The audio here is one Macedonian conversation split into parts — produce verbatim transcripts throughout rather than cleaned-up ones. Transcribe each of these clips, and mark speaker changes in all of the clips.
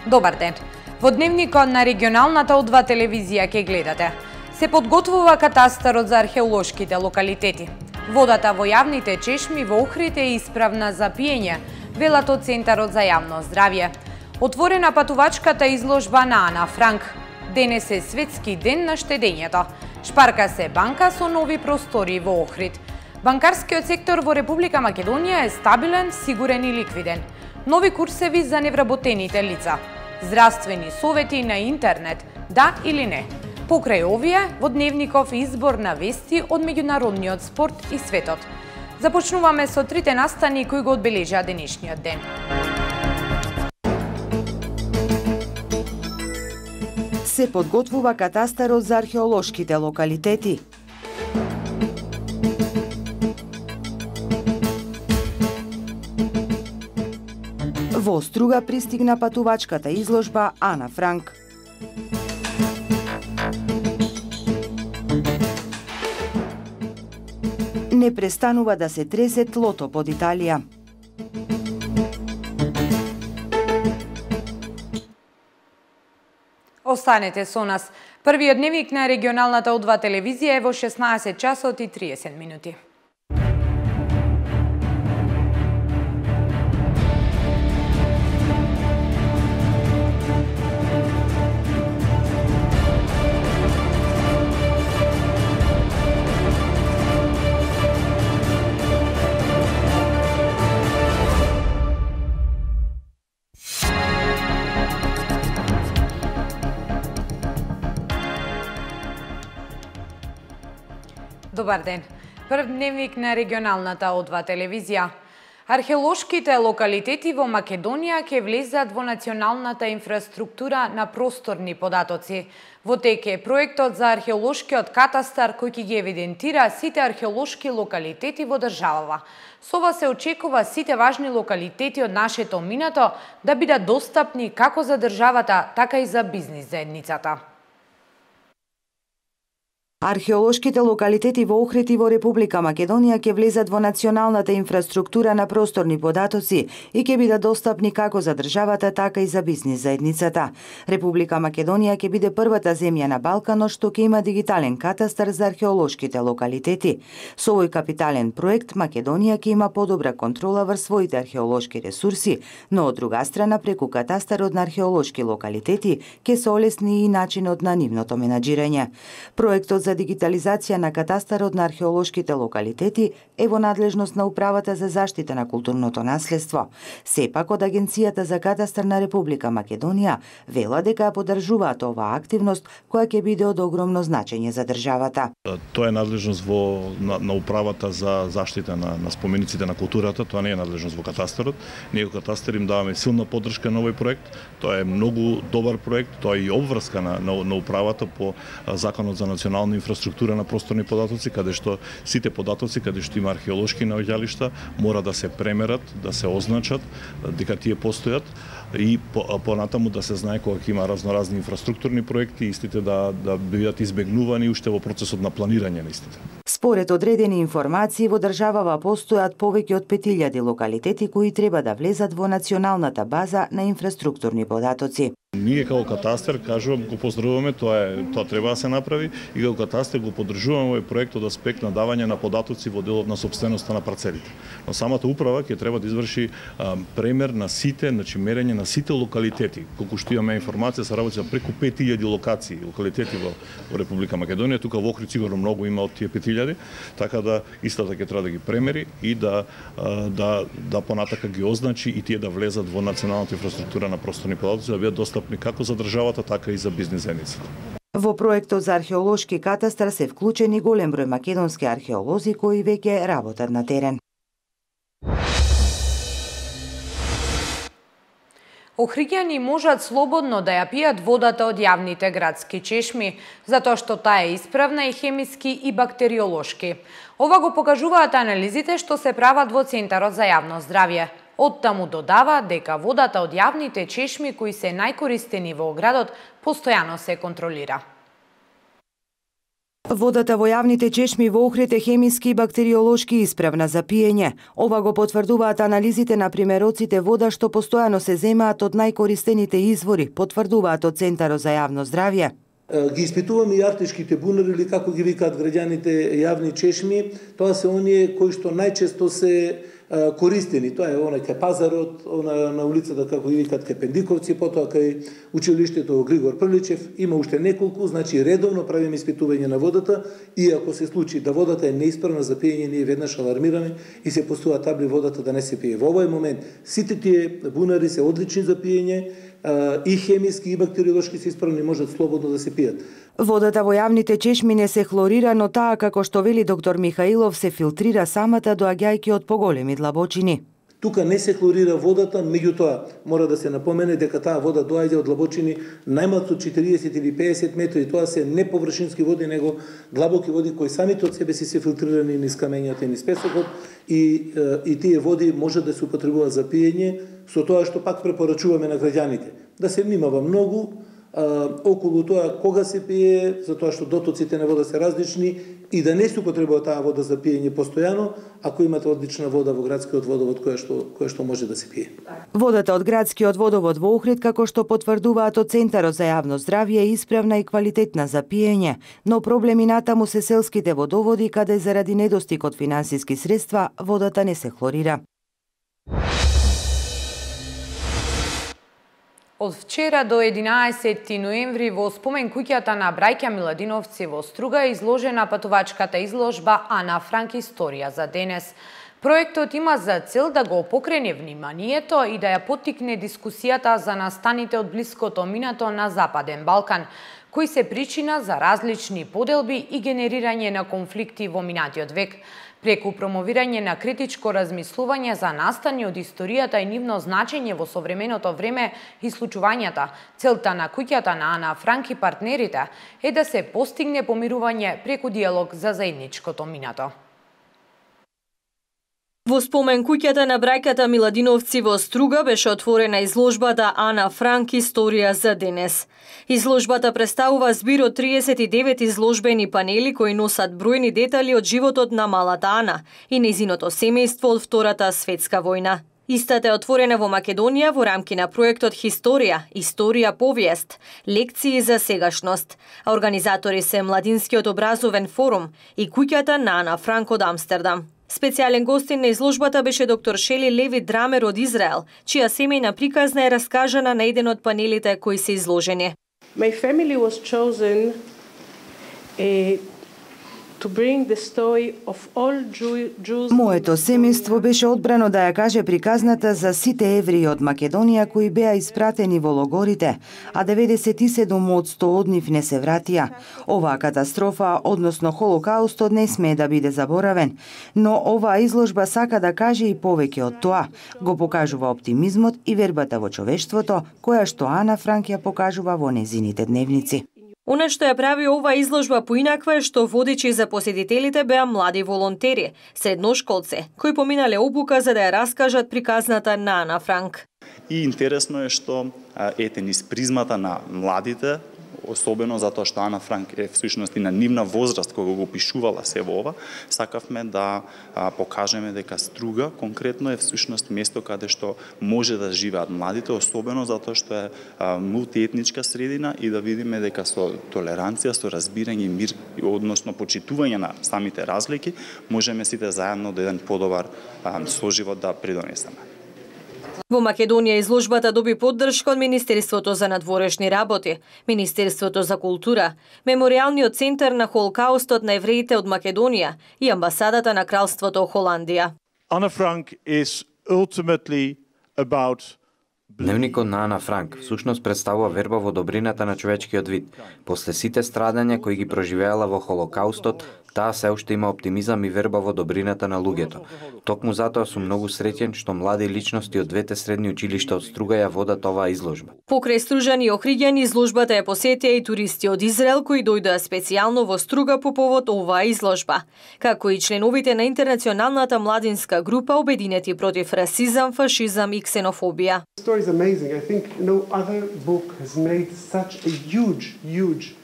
Speaker 1: Добар ден. Во дневникот на регионалната О два телевизија ке гледате. Се подготвува катастарот за археолошките локалитети. Водата во јавните чешми во Охрид е исправна за пиење, велат од Центарот за јавно здравје. Отворена патувачката изложба на Ана Франк. Денес е светски ден на штедењето. Шпарка се банка со нови простори во Охрид. Банкарскиот сектор во Република Македонија е стабилен, сигурен и ликвиден. Нови курсеви за невработените лица. Здравствени совети на интернет, да или не. Покрај овие, во дневников избор на вести од меѓународниот спорт и светот. Започнуваме со трите настани кои го одбележаа денешниот ден.
Speaker 2: Се подготвува катастарот за археолошките локалитети. Во Струга пристигна патувачката изложба Ана Франк. Не престанува да се тресе тлото под Италија.
Speaker 1: Останете со нас. Првиот дневник на регионалната О два телевизија е во шеснаесет часот и триесет минути. Добар ден. Прв дневник на регионалната О два телевизија. Археолошките локалитети во Македонија ќе влезат во националната инфраструктура на просторни податоци. Во тек е проектот за археолошкиот катастар кој ќе ги евидентира сите археолошки локалитети во државава. Со ова се очекува сите важни локалитети од нашето минато да бидат достапни како за државата, така и за бизнис заедницата.
Speaker 2: Археолошките локалитети во Охрид и во Република Македонија ќе влезат во националната инфраструктура на просторни податоци и ќе бидат достапни како за државата, така и за бизнис заедницата. Република Македонија ќе биде првата земја на Балканот што ќе има дигитален катастар за археолошките локалитети. Со овој капитален проект Македонија ќе има подобра контрола врз своите археолошки ресурси, но од друга страна преку катастарот на археолошки локалитети ќе се олесни и начинот на нивното менаџирање. Проектот за дигитализација на катастарот на археолошките локалитети е во надлежност на Управата за заштита на културното наследство. Сепак од Агенцијата за катастар на Република Македонија вела дека ја поддржуваат оваа активност која ќе биде од огромно значење за државата.
Speaker 3: Тоа е надлежност во на, на Управата за заштита на, на спомениците на културата, тоа не е надлежност во катастарот. Ние во катастар им даваме силна поддршка на овој проект. Тоа е многу добар проект, тоа е и обврска на, на, на Управата по Законот за национална инфраструктура на просторни податоци, каде што сите податоци, каде што има археолошки наоѓалишта, мора да се премерат, да се означат, дека тие постојат и понатаму да се знае кога ќе има разноразни инфраструктурни проекти, истите да, да бидат избегнувани уште во процесот на планирање на истите.
Speaker 2: Според одредени информации, во државава постојат повеќе од пет илјади локалитети кои треба да влезат во националната база на инфраструктурни податоци.
Speaker 3: Ние како катастар, кажувам, го поздравуваме, тоа е, тоа треба да се направи и како катастар го поддржуваме овој проект од аспект на давање на податоци во делот на сопственоста на парцелите. Но самата управа ќе треба да изврши а, премер на сите, значи мерење на сите локалитети. Колку што имаме информација, се работи за преку пет илјади локации, локалитети во, во Република Македонија, тука во Охрид сигурно многу има од тие пет илјади, така да истата ќе треба да ги премери и да а, да да понатака ги означи и тие да влезат во националната инфраструктура на просторни податоци, да бидат достапни како за државата, така и за бизнис заедницата.
Speaker 2: Во проектот за археолошки катастар се вклучени голем број македонски археолози кои веќе работат на терен.
Speaker 1: Охриѓани можат слободно да ја пијат водата од јавните градски чешми, затоа што таа е исправна и хемиски и бактериолошки. Ова го покажуваат анализите што се прават во Центарот за јавно здравје. Оттаму додава дека водата од јавните чешми кои се најкористени во градот постојано се контролира.
Speaker 2: Водата во јавните чешми во Охрид е хемиски и бактериолошки исправна за пиење. Ова го потврдуваат анализите на примероците вода што постојано се земаат од најкористените извори, потврдуваат од Центарот за јавно здравје.
Speaker 4: Ги испитуваме и артишките бунари, или како ги викаат граѓаните јавни чешми. Тоа се оние кои што најчесто се користени. Тоа е онај кај пазарот, она на улицата како ги викаат кај Пендиковци, потоа кај училиштето Григор Приличев, има уште неколку, значи редовно правиме испитување на водата и ако се случи да водата е неисправна за пиење, ние веднаш алармираме и се поставуваат табли водата да не се пие. Во овој момент сите тие бунари се одлични за пиење, и хемиски и бактериолошки се исправни, можат слободно да се пијат.
Speaker 2: Водата во јавните чешми не се хлорира, но таа, како што вели доктор Михаилов, се филтрира самата доаѓајќи од поголеми длабочини.
Speaker 4: Тука не се хлорира водата, меѓутоа мора да се напомене дека таа вода доаѓа од длабочини најмалку од четириесет или пеесет метри. Тоа се не површински води, него длабоки води кои самите од себе си се филтрирани низ камењата и низ песокот и, и тие води можат да се употребуваат за пиење, со тоа што пак препорачуваме на граѓаните. Да се внимава многу а, околу тоа кога се пие, затоа што дотоците на вода се различни и да не се употребува таа вода за пиење постојано, ако имате одлична вода во градскиот водовод која што, која што може да се пие.
Speaker 2: Водата од градскиот водовод во Охрид, како што потврдуваат од Центарот за јавно здравје, е исправна и квалитетна за пиење, но проблеми натаму се селските водоводи, каде заради недостиг од финансиски средства водата не се хлорира.
Speaker 1: Од вчера до единаесети ноември во спомен куќата на браќа Миладиновци во Струга е изложена патувачката изложба Ана Франк историја за денес. Проектот има за цел да го покрене вниманието и да ја поттикне дискусијата за настаните од блиското минато на Западен Балкан, кои се причина за различни поделби и генерирање на конфликти во минатиот век, преку промовирање на критичко размислување за настани од историјата и нивно значење во современото време и случувањата. Целта на куќата на Ана Франк и партнерите е да се постигне помирување преку диалог за заедничкото минато.
Speaker 5: Во спомен куќата на браќата Миладиновци во Струга беше отворена изложбата Ана Франк историја за денес. Изложбата представува збир од триесет и девет изложбени панели кои носат бројни детали од животот на малата Ана и нејзиното семејство од Втората светска војна. Истата е отворена во Македонија во рамки на проектот Хисторија, Историја повиест, лекции за сегашност. А организатори се Младинскиот образовен форум и куќата на Ана Франк од Амстердам. Специјален гостин на изложбата беше доктор Шели Леви Драмер од Израел, чија семејна приказна е раскажана на еден од панелите кои се изложени.
Speaker 6: My family was chosen uh, to bring the story of all Jews.
Speaker 2: Моето семејство беше одбрано да ја каже приказната за сите евреи од Македонија кои беа испратени во логорите, а деветдесет и седум од сто од нив не се вратија. Оваа катастрофа, односно Холокаустот, не смее да биде заборавен, но оваа изложба сака да каже и повеќе од тоа. Го покажува оптимизмот и вербата во човештвото, која што Ана Франк ја покажува во незините дневници.
Speaker 5: Она што ја прави ова изложба поинаква е што водичи за посетителите беа млади волонтери, средношколци, кои поминале обука за да ја раскажат приказната на Ана Франк.
Speaker 7: И интересно е што ете низ призмата на младите, особено затоа што Ана Франк е всушност и на нивна возраст кога го опишувала се во ова, сакавме да а, покажеме дека Струга конкретно е всушност место каде што може да живеат младите, особено затоа што е а, мултиетничка средина и да видиме дека со толеранција, со разбирање и мир, односно почитување на самите разлики, можеме сите заедно до еден подобар а, соживот да придонесеме.
Speaker 5: Во Македонија изложбата доби поддршка од Министерството за надворешни работи, Министерството за култура, Меморијалниот центар на Холокаустот на евреите од Македонија и амбасадата на Кралството Холандија.
Speaker 8: Anna Frank is ultimately about
Speaker 9: Дневникот на Ана Франк всушност представува верба во добрината на човечкиот вид. После сите страдања кои ги проживеала во Холокаустот, таа се уште има оптимизам и верба во добрината на луѓето. Токму затоа сум многу среќен што млади личности од двете средни училишта од Струга ја водат оваа изложба.
Speaker 5: Покрај стружани и охриѓани, изложбата ја посетија и туристи од Израел кои дојдоа специјално во Струга по повод оваа изложба, како и членовите на интернационалната младинска група обединети против расизам, фашизам и ксенофобија.
Speaker 10: Story is amazing. I think no other book has made such a huge, huge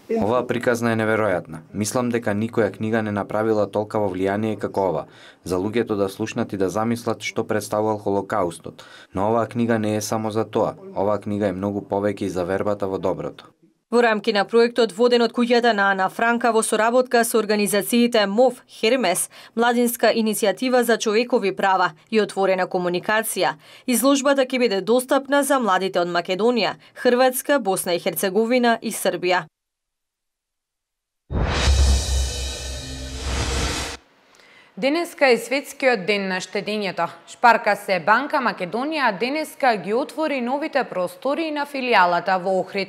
Speaker 9: Оваа приказна е неверојатна. Мислам дека никоја книга не направила толкаво влијание како ова, за луѓето да слушнат и да замислат што представувал Холокаустот. Но оваа книга не е само за тоа. Оваа книга е многу повеќе и за вербата во доброто.
Speaker 5: Во рамки на проектот воден од куќата на Ана Франка во соработка со организациите МОВ, Хермес, Младинска иницијатива за човекови права и отворена комуникација, изложбата ќе биде достапна за младите од Македонија, Хрватска, Босна и Херцеговина и Србија.
Speaker 1: Денеска е светскиот ден на штедењето. Шпарка се банка Македонија денеска ги отвори новите простории на филијалата во Охрид.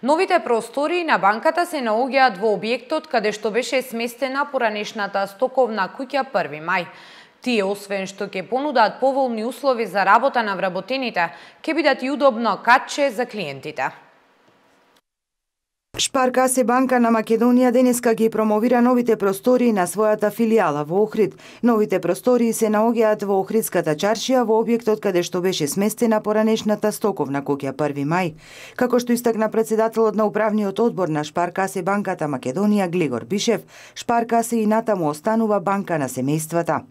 Speaker 1: Новите простории на банката се наоѓаат во објектот каде што беше сместена поранешната стоковна куќа први мај. Тие, освен што ќе понудат поволни услови за работа на вработените, ќе бидат и удобно катче за клиентите.
Speaker 2: Шпарка се банка на Македонија денеска ги промовира новите простории на својата филијала во Охрид. Новите простории се наоѓаат во Охридската чаршија во објектот каде што беше сместена поранешната стоковна куќа први мај. Како што истакна председателот на управниот одбор на Шпарка се банката Македонија Глигор Бишев, Шпарка се и натаму останува банка на семејствата.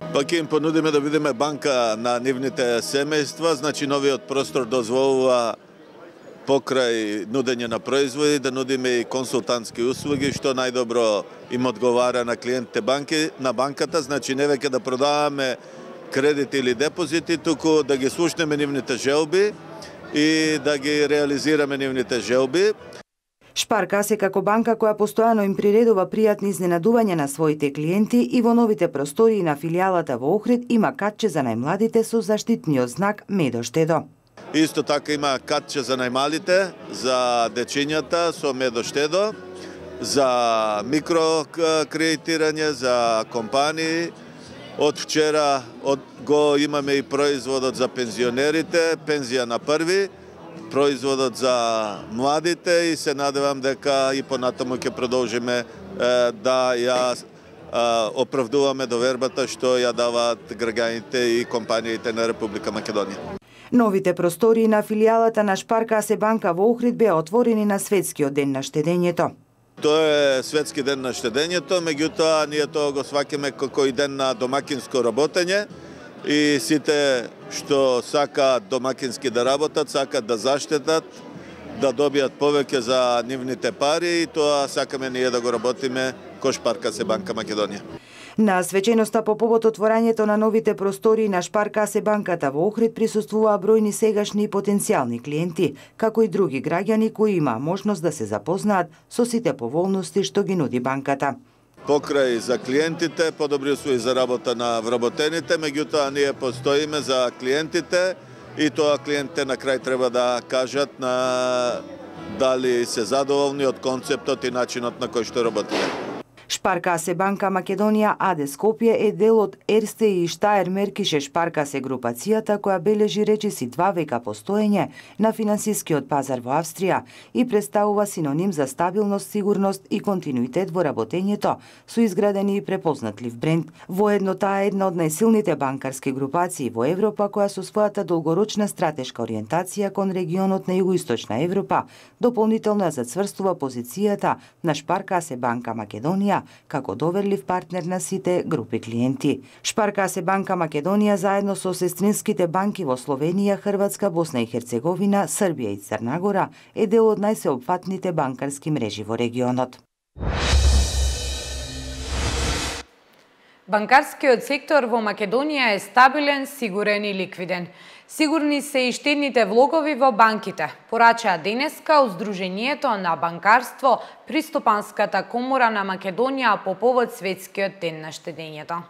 Speaker 10: Па ќе им понудиме да бидеме банка на нивните семејства, значи новиот простор дозволува покрај нудење на производи, да нудиме и консултантски услуги, што најдобро им одговара на клиентите банки, на банката, значи не веќе да продаваме кредити или депозити, туку да ги слушнеме нивните желби и да ги реализираме нивните желби.
Speaker 2: Шпарка се како банка која постојано им приредува пријатни изненадувања на своите клиенти и во новите простории на филијалата во Охрид има катче за најмладите со заштитниот знак Медо Штедо.
Speaker 10: Исто така има катче за најмалите, за дечињата со Медо Штедо, за микрокредитирање, за компании. Од вчера од, го имаме и производот за пензионерите, пензија на први, производот за младите и се надевам дека и понатаму ќе продолжиме е, да ја е, оправдуваме довербата што ја даваат граѓаните и компаниите на Република Македонија.
Speaker 2: Новите простории на филијалата на Шпарка се банка во Охрид беа отворени на светскиот ден на штедењето.
Speaker 10: Тоа е светски ден на штедењето, меѓутоа ние тоа го сваќаме како и ден на домакинско работење и сите што сакаат домакински да работат, сакаат да заштедат, да добијат повеќе за нивните пари и тоа сакаме ние да го работиме кој Шпарка се банка Македонија.
Speaker 2: На свеченоста по повод отворањето на новите простории на Шпарка се банката во Охрид присуствуваа бројни сегашни и потенцијални клиенти, како и други граѓани кои имаа можност да се запознаат со сите поволности што ги нуди банката.
Speaker 10: Покрај за клиентите, подобри услови за работа на вработените, меѓутоа ние постоиме за клиентите и тоа клиентите на крај треба да кажат на дали се задоволни од концептот и начинот на кој што работиме.
Speaker 2: Шпарка се банка Македонија АД Скопје е дел од Ерсте и Штаер Меркише Шпарка се групацијата која бележи речиси два века постоење на финансискиот пазар во Австрија и представува синоним за стабилност, сигурност и континуитет во работењето со изградени и препознатлив бренд. Воедно таа е една од најсилните банкарски групации во Европа која со својата долгорочна стратешка ориентација кон регионот на Југоисточна Европа дополнително ја зацврстува позицијата на Шпарка се банка Македонија како доверлив партнер на сите групи клиенти. Шпарка се банка Македонија заедно со сестринските банки во Словенија, Хрватска, Босна и Херцеговина, Србија и Црна Гора е дел од најсеопфатните банкарски мрежи во регионот.
Speaker 1: Банкарскиот сектор во Македонија е стабилен, сигурен и ликвиден. Сигурни се и штедните влогови во банките, порачаа денеска Сдруженијето на банкарство Пристопанската комора на Македонија по повод светскиот ден на штедењето.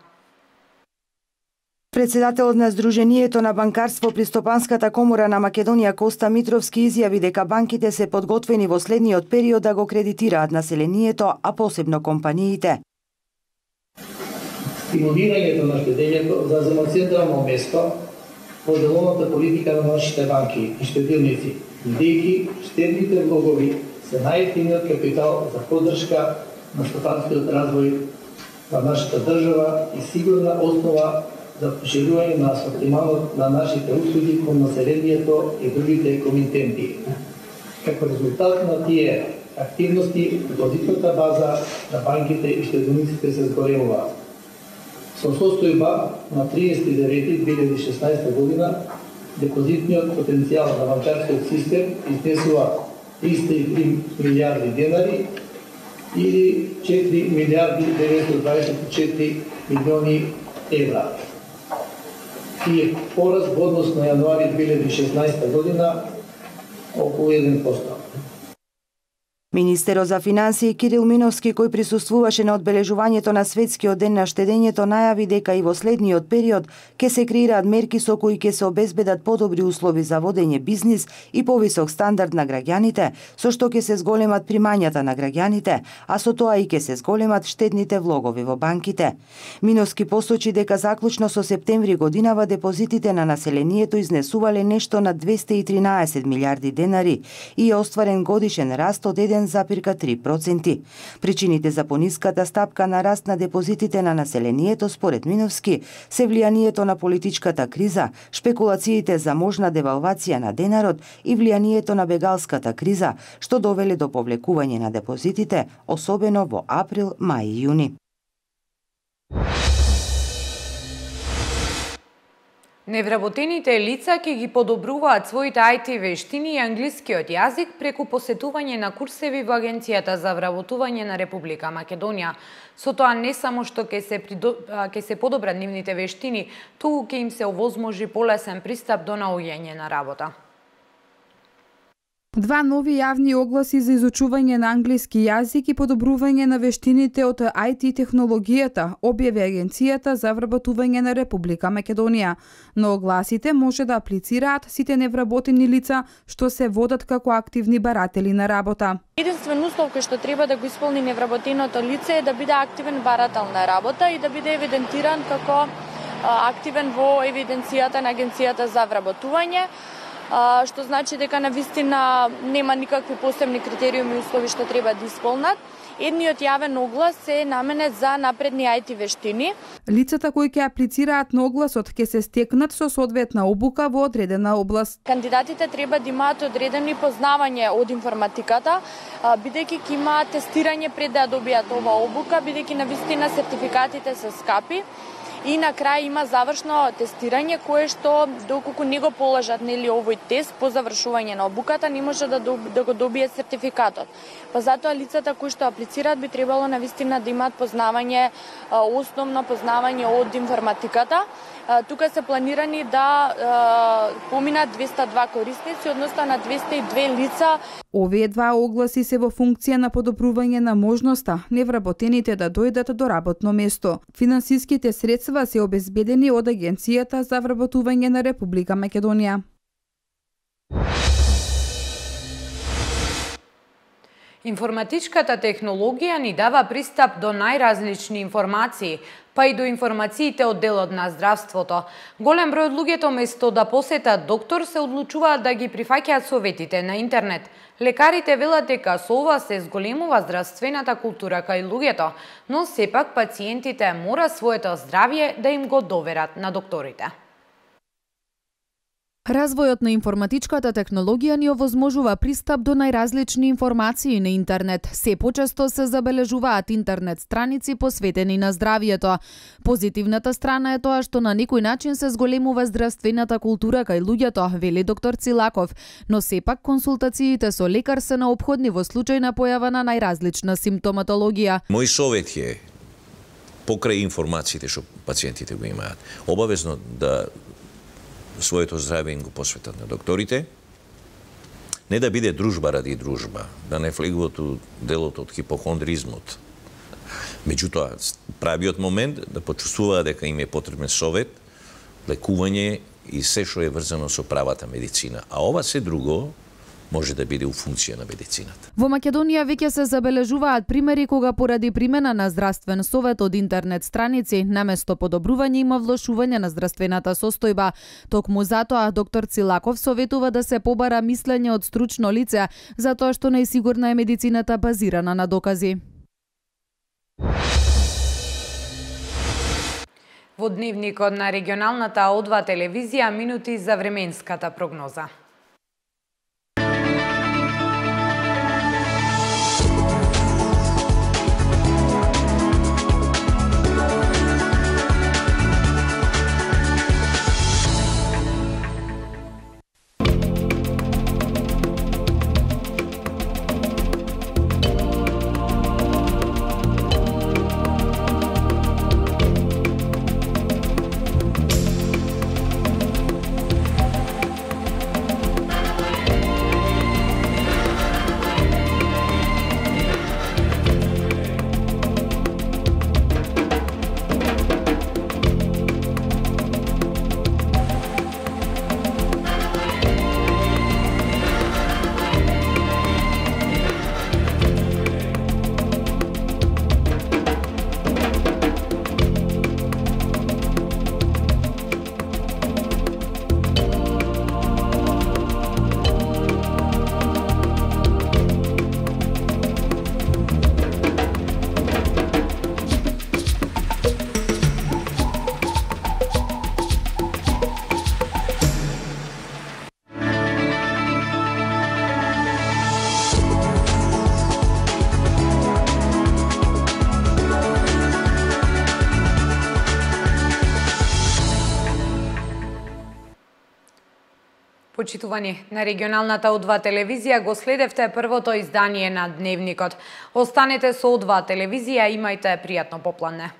Speaker 2: Председателот на Сдруженијето на банкарство Пристопанската комора на Македонија Коста Митровски изјави дека банките се подготвени во следниот период да го кредитираат населението, а посебно компаниите.
Speaker 11: Стимулирањето на штедењето зазема централно место во деловната политика на нашите банки и штедилници, бидејќи штедните влогови се најефтиниот капитал за поддршка на стопанскиот развој на нашата држава и сигурна основа за поширување на асортиманот на нашите услуги кон населението и другите комитенти. Како резултат на тие активности депозитната база на банките и штедениците се зголемуваат. Со состојба на триесети девети две илјади и шеснаесета година, депозитниот потенцијал на банкарскиот систем изнесува триста и три милијарди денари или четири милијарди деветстотини дваесет и четири милиони евра. И е пораз во однос на јануари две илјади и шеснаесета година околу еден процент.
Speaker 2: Министерот за финансии Кирил Миновски, кој присуствуваше на одбележувањето на Светскиот ден на штедењето, најави дека и во следниот период ќе се креираат мерки со кои ќе се обезбедат подобри услови за водење бизнис и повисок стандард на граѓаните, со што ќе се зголемат примањата на граѓаните, а со тоа и ќе се зголемат штедните влогови во банките. Миновски посочи дека заклучно со септември годинава депозитите на населението изнесувале нешто на двесте и тринаесет милијарди денари и е остварен годишен раст од еден зарез три проценти. Причините за пониската стапка на раст на депозитите на населението според Миновски се влијанието на политичката криза, шпекулациите за можна девалвација на денарот и влијанието на бегалската криза, што довеле до повлекување на депозитите, особено во април, мај и јуни.
Speaker 1: Невработените лица ќе ги подобруваат своите ај ти вештини и англискиот јазик преку посетување на курсеви во Агенцијата за вработување на Република Македонија. Со тоа не само што ќе се, придо... ќе се подобрат нивните вештини, туку ќе им се овозможи полесен пристап до наоѓање на работа.
Speaker 12: Два нови јавни огласи за изучување на англиски јазик и подобрување на вештините од ај ти технологијата објави Агенцијата за вработување на Република Македонија. На огласите може да аплицираат сите невработени лица што се водат како активни баратели на работа.
Speaker 13: Единствен услов кој што треба да го исполни невработеното лице е да биде активен барател на работа и да биде евидентиран како активен во евиденцијата на Агенцијата за вработување, што значи дека навистина нема никакви посебни критериуми и услови што треба да исполнат. Едниот јавен оглас е наменет за напредни ај ти вештини.
Speaker 12: Лицата кои ќе аплицираат на огласот ќе се стекнат со соодветна обука во одредена област.
Speaker 13: Кандидатите треба да имаат одредени познавање од информатиката, бидејќи ќе имаат тестирање пред да добијат оваа обука, бидејќи навистина сертификатите се скапи. И на крај има завршно тестирање кое што доколку не го положат нели овој тест по завршување на обуката не може да, доб, да го добие сертификатот. Па затоа лицата кои што аплицираат би требало навистина да имаат познавање, основно познавање од информатиката. Тука се планирани да поминат двесте и два корисници, односно на двесте и две лица.
Speaker 12: Овие два огласи се во функција на подобрување на можноста невработените да дојдат до работно место. Финансиските средства се обезбедени од Агенцијата за вработување на Република Македонија.
Speaker 1: Информатичката технологија ни дава пристап до најразлични информации, па и до информациите од делот на здравството. Голем број од луѓето место да посетат доктор се одлучуваат да ги прифаќаат советите на интернет. Лекарите велат дека со ова се зголемува здравствената култура кај луѓето, но сепак пациентите мора своето здравје да им го доверат на докторите.
Speaker 14: Развојот на информатичката технологија ни овозможува пристап до најразлични информации на интернет. Се почесто се забележуваат интернет страници посветени на здравјето. Позитивната страна е тоа што на некој начин се зголемува здравствената култура кај луѓето, вели доктор Цилаков, но сепак консултациите со лекар се неопходни во случај на појава на најразлична симптоматологија.
Speaker 15: Мој совет е покрај информациите што пациентите го имаат, обавезно да своето здравје им го посветат на докторите, не да биде дружба ради дружба, да не влегуват у делот од хипохондризмот. Меѓутоа, правиот момент да почувствуваат дека им е потребен совет, лекување и се што е врзано со правата медицина. А ова се друго може да биде у функција на медицината.
Speaker 14: Во Македонија веќе се забележуваат примери кога поради примена на здравствен совет од интернет страници, наместо подобрување има влошување на здравствената состојба. Токму затоа доктор Цилаков советува да се побара мислење од стручно лице, затоа што најсигурна е медицината базирана на докази.
Speaker 1: Во дневникот на регионалната О два телевизија минути за временската прогноза. Почитувани, на регионалната О два телевизија го следевте првото издание на Дневникот. Останете со О два телевизија, имајте пријатно попладне.